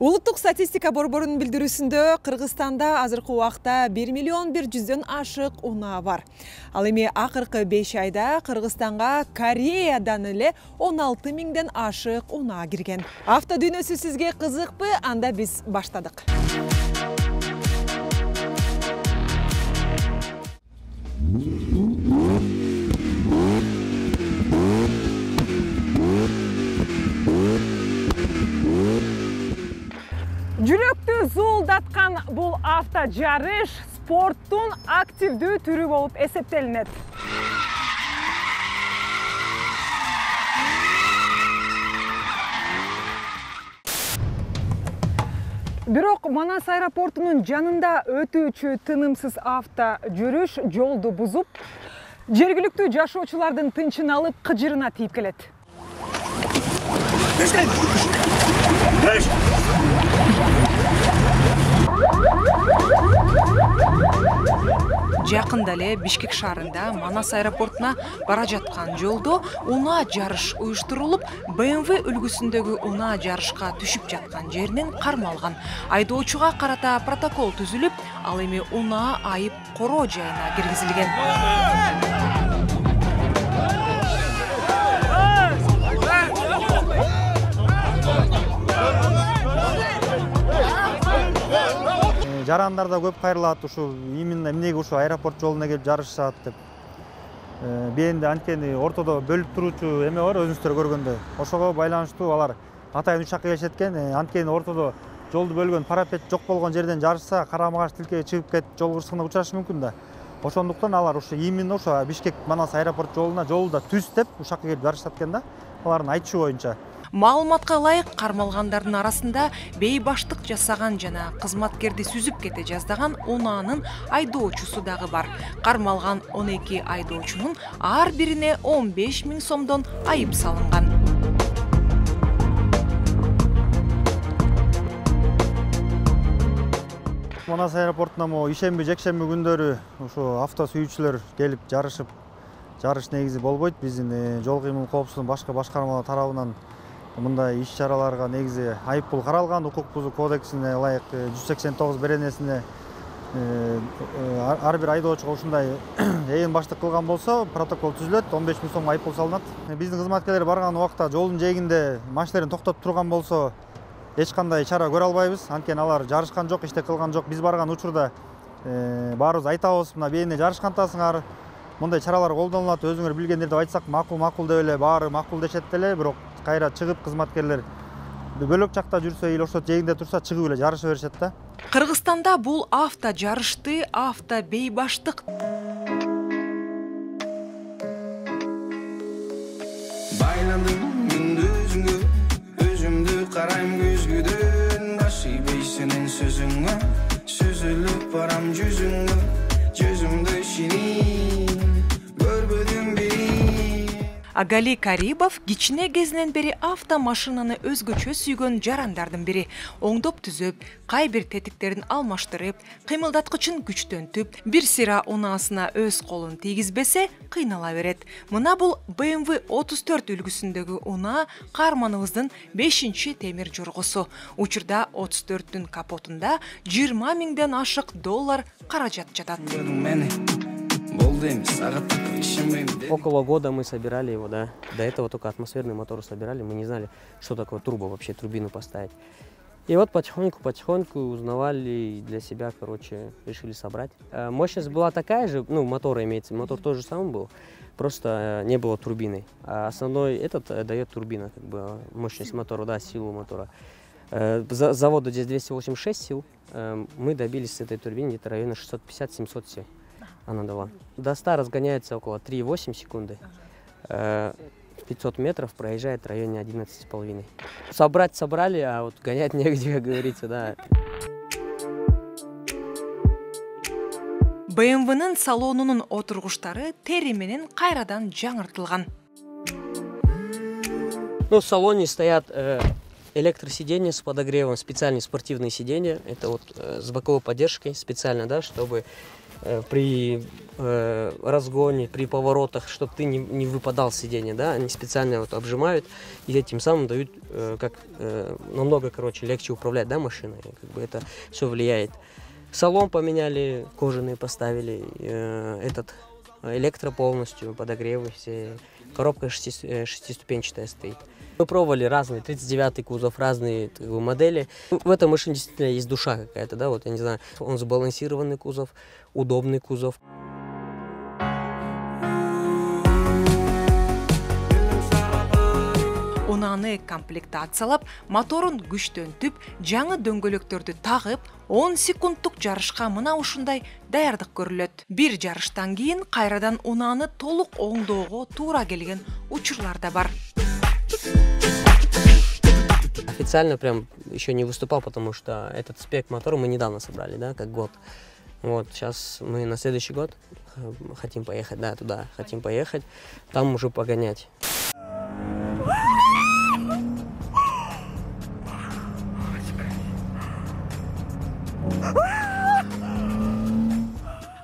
Улуттук статистика борборунун билдирүүсүндө Кыргызстанда азыркы убакта 1 миллион 100 ашык унаа бар. Ал эми акыркы 5 айда Кыргызстанга Кореядан эле 16 миңден ашык унаа кирген. Авто дүйнөсү сизге кызыкпы? Анда биз баштадык. Жүрөктү зуулдаткан бул авто жарыш спорттун активдүү түрү болуп эсептелинет. Бирок Манас аэропортунун жанында өтүүчү тынымсыз авто жүрүш жолду бузуп, жергиликтүү жашоочулардын тынчын алып кыжырына тийип келет. Жакында эле Бишкек шаарында Манас аэропортуна бара жаткан жолдо унаа жарыш уюштурулуп, BMW үлгүсүндөгү унаа жарышка түшүп жаткан жеринен кармалган. Айдоочуга карата протокол түзүлүп, ал эми унаа айып короо жайына киргизилген. Жарандарда көп кайрылат, ушу именно эмнеге ушу аэропорт жолуна келип жарышышат деп. Бенде анткени ортодо бөлүп туруучу эме бар, өзүңүздөр көргөндөй. Ошого байланыштуу алар атайын учакка келишет экен. Анткени ортодо жолду бөлгөн парапет жок болгон жерден жарышса, карама-каршы тилкеге чыгып кетип, жол кырсыгына учурашы мүмкүн да. Ошондуктан алар ушу именно ушу Бишкек Манас аэропорт жолуна жолду түз деп ушакка келип жарышат экен да. Алардын айтышы боюнча. Маалыматка ылайык, кармалгандардын арасында бейбаштык жасаган жана кызматкерди сүзүп кете жаздаган унаанын айдоочусу дагы бар. Кармалган 12 айдоочунун ар бирине 15 миң сомдон айып салынган. Манас аэропортуна ишемби, жекшемби күндөрү ушу авто сүйүүчүлөр келип жарышып, жарыш негизи болбойт. Биздин жол кыймыл коопсуздугунун башка башкармалар тарабынан мындай иш-чараларга негизи айыппул каралган. Укук бузуу кодексине ылайык 189 беренесине ар бир айдоочуга ушундай ээн баштык кылган болсо протокол түзүлөт, 15 миң сом айыппул салынат. Биздин кызматкерлер барган убакта жолдун жээгинде машиналарын токтотуп турган болсо эч кандай чара көрө албайбыз. Анткени алар жарышкан жок, иштек кылган жок. Биз барган учурда баарыбыз айтабыз, мына бээне жарышкантасыңар, мындай чаралар колдонулат, өзүңөр билгендер деп айтсак макул деп эле баары макул дешет эле. Бирок кайра чыгып кызматкерлер бөлөк жакта жүрсө или ошо жээгинде турса чыгып эле жарыша беришет да. Кыргызстанда бул авто жарышты авто бейбаштык байландым мүндүзүңө, өзүмдү карайм көзгүдөн, башыбай сенин сөзүңө, сөзүлүп барам жүзүңө, жүзүмдү шинин көрбөдүм бери. Агали Карибов кичине кезинен бери автомашинаны өзгөчө сүйгөн жарандардын бири. Оңдоп түзөп, кай бир тетиктерин алмаштырып, кыймылдаткычын күчтөнтүп, бир сыйра унаасына өз колун тийгизбесе, кыйнала берет. Мына бул BMW 34 үлгүсүндөгү унаа каарманыбыздын 5-чи темир жоргосу. Учурда 34-түн капотунда 20 миңден ашык доллар каражат жатат. Около года мы собирали его, да. До этого только атмосферный мотор собирали. Мы не знали, что такое турбо вообще, турбину поставить. И вот потихоньку узнавали для себя, короче, решили собрать. Мощность была такая же, ну, мотор имеется, мотор тот же самый был, просто не было турбины. А основной этот дает турбина, как бы, мощность мотора, да, силу мотора. Заводу здесь 286 сил, мы добились с этой турбины где-то района 650-700 сил. Она дала. До 100 разгоняется около 3,8 секунды. 500 метров проезжает в районе 11,5. Собрать собрали, а вот гонять негде, как говорится, да. BMW-нын салонунун отургучтары тери менен кайрадан жаңыртылган. Ну, в салоне стоят электросиденья с подогревом, специальные спортивные сиденья. Это вот с боковой поддержкой специально, да, чтобы при разгоне, при поворотах, чтобы ты не выпадал с сиденья, да, они специально вот обжимают и этим самым дают намного, легче управлять, да, машиной, как бы это все влияет. Салон поменяли, кожаный поставили, электро полностью, подогревы все, коробка шестиступенчатая стоит. Мы пробовали разные, 39-й кузов, разные модели. В этой машине действительно есть душа какая-то, да, вот я не знаю, он сбалансированный кузов, удобный кузов. Унааны комплектациялап, моторун күчтөнтүп, жаңы дөңгөлөктөрдү тагып, 10 секунддук жарышка мына ушундай даярдык көрүлөт. Бир жарыштан кийин кайрадан унааны толук оңдоого туура келген учурлар да бар. Официально прям еще не выступал, потому что этот спек мотора мы недавно собрали, да, как год. Вот, сейчас мы на следующий год хотим поехать, да, туда хотим поехать, там уже погонять.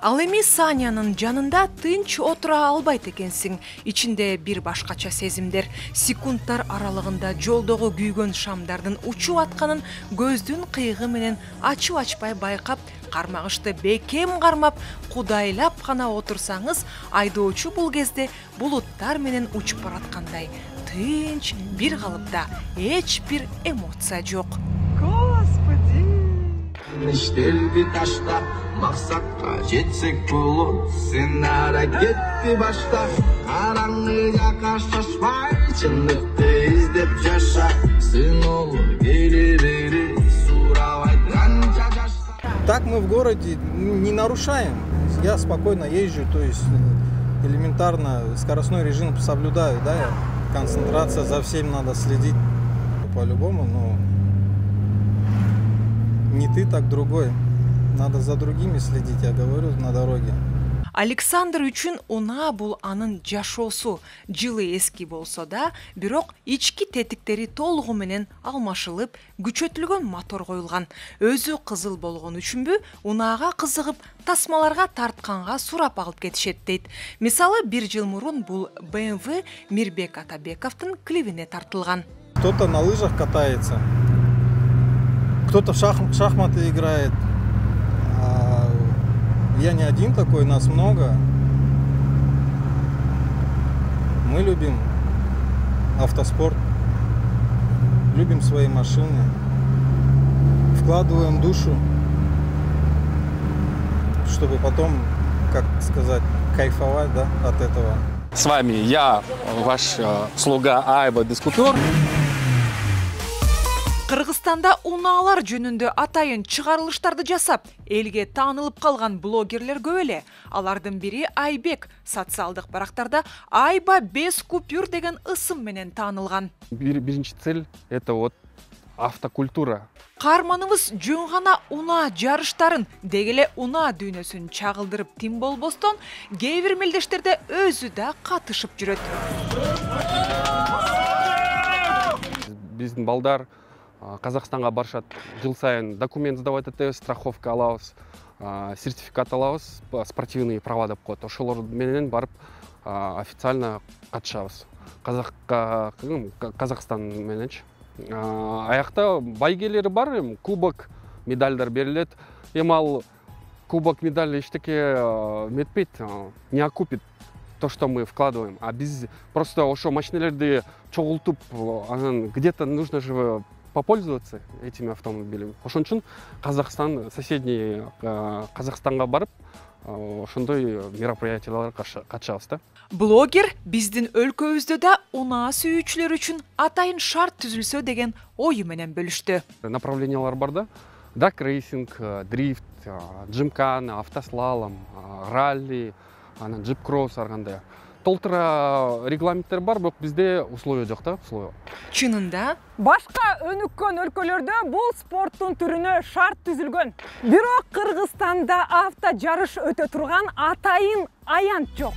Ал эми Санянын жанында тынч отура албайт экенсиң. Ичинде бир башкача сезимдер. Секундтар аралыгында жолдогу күйгөн шамдардын учуп атканын көздүн кыйыгы менен ачып-ачпай байкап, кармагычты бекем кармап, кудайлап гана отурсаңыз, айдоочу бул кезде булуттар менен учуп бараткандай. Тынч, бир калыпта, эч бир эмоция жок. İşlerdi taşta maksatка жетсек болот сен аракетти башта караңгыга кашташпай чындыкты издеп жаша сын olur келебери сурабай канча жашса. Так мы в городе не нарушаем, я спокойно езжу, то есть элементарно скоростной режим соблюдаю, да, концентрация, за всем надо следить по-любому, но не ты, так другой. Надо за другими следить, я говорю, на дороге. Александр үчүн унаа бул анын жашоосу. Жылы эски болсо да, бирок ички тетиктери толугу менен алмашылып, күчөтүлгөн мотор коюлган. Өзү кызыл болгон үчүнбү, унаага кызыгып, тасмаларга тартканга сурап алып кетишет дейт. Мисалы, 1 жыл мурун бул BMW Мирбек Атабековдун клибине тартылган. Кто-то на лыжах катается, кто-то в шахматы играет. Я не один такой, нас много. Мы любим автоспорт, любим свои машины, вкладываем душу, чтобы потом, как сказать, кайфовать, да, от этого. С вами я, ваш слуга Айба Дискутер. Кыргызстанда унаалар жөнүндө атайын чыгарылыштарды жасап, элге таанылып калган блогерлер көп эле. Алардын бири Айбек. Социалдык барактарда Айба 5 купюр деген ысым менен таанылган. Биринчи цель — это вот автокультура. Каарманыбыз жөн гана унаа жарыштарын, дегеле унаа дүйнөсүн чагылдырып тим болбостон, кээ бир мелдештерде өзү да катышып жүрөт. Биздин балдар Казакстанга барышат, жыл сайын документ сдавать этебиз, страховка алабыз, сертификат алабыз, спортивный права деп коет. Ошолор менен барып официально катышабыз. Казакстан мененчи. Аякта байгелери бар, кубок, медальдар берилет. Эми ал кубок, медаль эчтеке метпейт, не окупит то, что мы вкладываем. А биз просто ошо машинелерди чогултуп, анан где-то нужно же попользоваться этими автомобилями. Ошон үчүн Казахстан, соседний Казахстанга барып, ошондой мероприятияларга катышабыз да. Блогер биздин өлкөбүздө да унаа сүйүүчүлөр үчүн атайын шарт түзүлсө деген ою менен бөлүштү. Направлениялар бар да. Драг-рейсинг, дрифт, джимкан, автослалом, ралли, анан джип-кросс аргандай. Толтура регламенттер бар, бирок бизде условия жок да, условия. Чынында башка өнүккөн өлкөлөрдө бул спорттун түрүнө шарт түзүлгөн. Бирок Кыргызстанда авто жарыш өтө турган атайын аянт жок.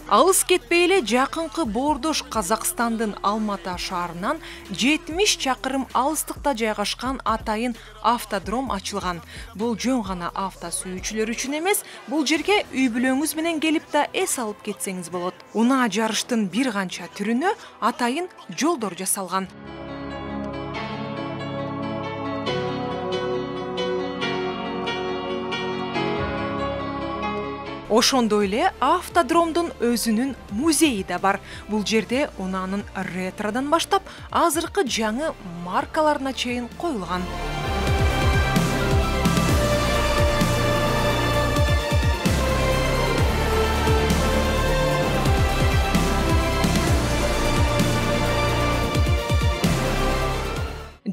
Алыс кетпей эле жакынкы Боордош Казакстандын Алматы шаарынан 70 чакырым алыстыкта жайгашкан атайын автодром ачылган. Бул жөн гана авто сүйүүчүлөр үчүн эмес, бул жерге үй бүлөңүз менен келип да эс алып кетсеңиз болот. Унаа жарыштын бир канча түрүнө атайын жолдор жасалган. Ошондой эле автодромдун өзүнүн музейи да бар. Бул жерде унаанын ретродан баштап азыркы жаңы маркаларына чейин коюлган.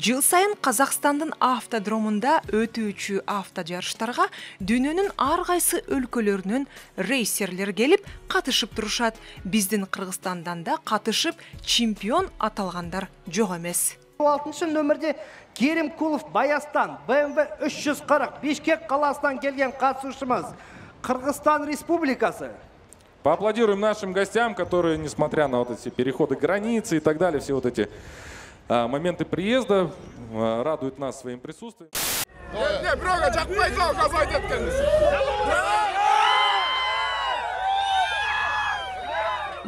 Жыл сайын Казакстандын автодромунда өтүүчү авто жарыштарга дүйнөнүн ар кайсы өлкөлөрүнөн рейсерлер келип катышып турушат. Биздин Кыргызстандан да катышып чемпион аталгандар жок эмес. 6-нөмүрдө Керимкулов Баястан, BMW 340 Бишкек каласынан келген катышуучумуз. Кыргызстан Республикасы. Поаплодируем нашим гостям, которые, несмотря на вот эти переходы границы и так далее, все вот эти моменты приезда радуют нас своим присутствием.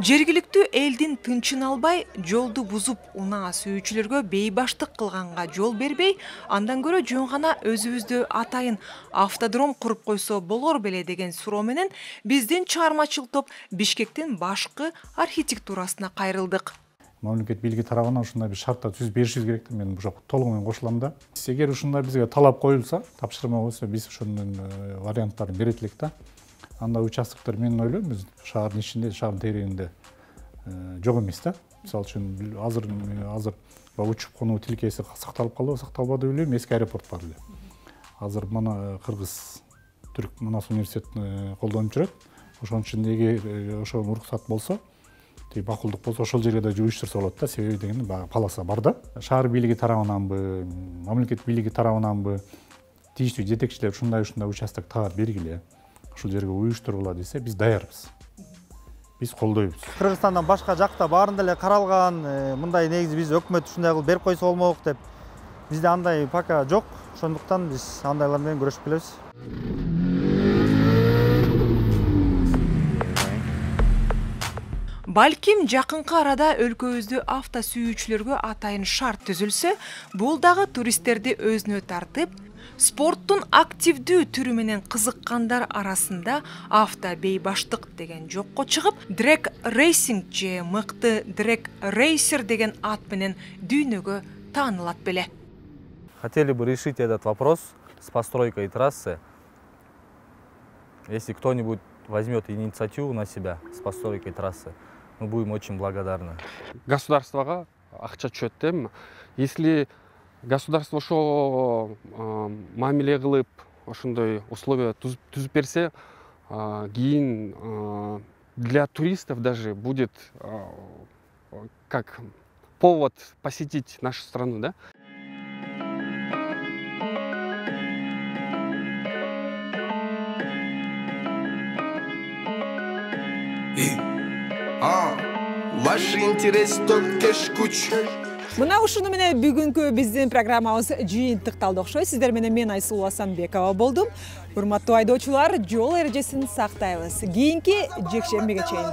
Жергиликтүү элдин тынчын албай, жолду бузуп унаа сүйүүчүлөргө бейбаштык кылганга жол бербей, андан көрө жөн гана өзүбүздө атайын автодром куруп койсо болор беле деген суроо менен биздин чыгармачыл топ Бишкектин башкы архитектурасына кайрылдык. Мамлекет бийлиги тарабынан ушундай бир шарттар түзүп беришибиз керек деп мен бул толугу менен кошулам да. Эгер ушундай бизге талап коюлса, тапшырма койсо, биз ошонун варианттарын берет элек да. Анда участоктор мен ойлойм, биз шаардын ичинде, шаардын тегерегинде жок эмес да. Мисалы үчүн азыр учуп конуу тилкеси сакталып калды, сакталбады билбейм, эски аэропорт бар эле. Азыр мына Кыргыз Түрк Манас университетин колдонуп жүрөт. Ошонун үчүн эгер ошого уруксат болсо, бакылдык болсо ошол жерге да жуюштурса болот да, себеби деген полоса бар да. Шаар бийлиги тарабынанбы, мамлекет бийлиги тарабынанбы тийиштүү жетекчилер ушундай участок таап бергиле, ушул жерге уюштургула десе, биз даярбыз. Биз колдойбуз. Кыргызстандан башка жакта баарында эле каралган, мындай негизи биз өкмөт ушундай кылып берип койсо болмок деп. Бизде андай пока жок, ошондуктан биз андайлар менен күрөшүп келебиз. Балким жакынкы арада өлкөбүздө авто сүйүүчүлөргө атайын шарт түзүлсө, бул дагы туристтерди өзүнө тартып, спорттун активдүү түрү менен кызыккандар арасында авто бейбаштык деген жокко чыгып, Drag Racing же мыкты Drag Racer деген ат менен дүйнөгө таанылат беле. Хотели бы решить этот вопрос с постройкой трассы. Если кто-нибудь возьмет инициативу на себя с постройкой трассы, мы будем очень благодарны. Государствого акча түшөт дейм. Если государство ошо мамиле кылып, ошондой условия түзүп берсе, кийин для туристов даже будет как повод посетить нашу страну, да? Ваш интерес только куч. Мына ушуну менен бүгүнкү биздин программабыз жыйынтыкталды окшойт. Сиздер менен мен Айсулуу Асанбекова болдум. Урматтуу айдоочулар, жол эрежесин сактайбыз. Кийинки жекшембиге чейин.